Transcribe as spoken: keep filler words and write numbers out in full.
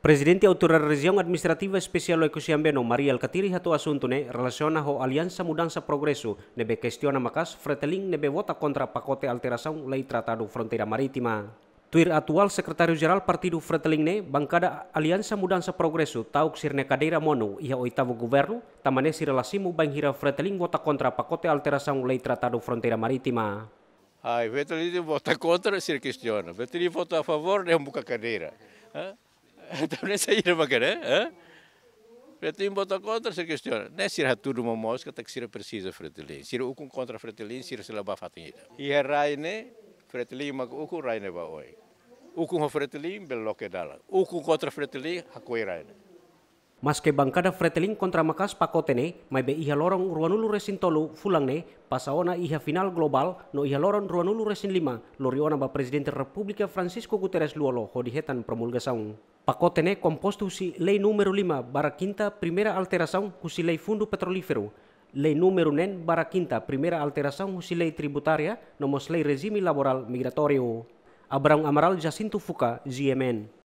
Prezidente Autoridade Rejiaun Administrativa Espesiál Oe-Kusi Ambeno, Mari Alkatiri, hato'o asuntu ne'e relasiona ho Aliansa Mudansa Progresu ne'ebé kestiona maka'as Fretilin ne'ebé vota kontra pakote alterasaun Lei Tratadu Fronteira Marítima. Tuir atuál Sekretáriu Jerál Partidu Fretilin ne'e, bankada Aliansa Mudansa Progresu ta'uk sira-nia kadeira monu iha oitavu governu, tanba ne'e sira la simu bainhira Fretilin vota kontra pakote alterasaun Lei Tratadu Fronteira Marítima. Ai, Fretilin vota kontra, sira kestiona. Fretilin vota a favór, dehan buka kadeira. Hã? Entaun, ne'e saida mak ne'e, hã? Fretilin vota kontra, sira kestiona. Ne'e sira hatudu momoos katak sira presiza Fretilin. Sira ukun kontra Fretilin, sira sei la bá fatin ida. Iha rai ne'e, Fretilin mak ukun, rai ne'e ba oin. Ukun ho Fretilin, bele loke dalan. Ukun kontra Fretilin, hakoi rai ne'e. Maske bankada Fretilin kontra maka'as pakote ne'e, maibé iha loron ruanulu-resin-tolu fulan ne'e, pasa ona iha finál globál, no iha loron ruanulu-resin-lima, lori ona ba Prezidente Repúblika Francisco Guterres Lú-Olo hodi hetan promulgasaun. Pakote ne'e kompostu husi Lei Númeru lima barra Quinta, primeira alterasaun husi Lei Fundu Petrolíferu, Lei Númeru neen barra Quinta, primeira alterasaun husi Lei Tributária, no mós Lei Rejime Laborál Migratóriu. Abrão Amaral, Jacinto Fuca, G M N.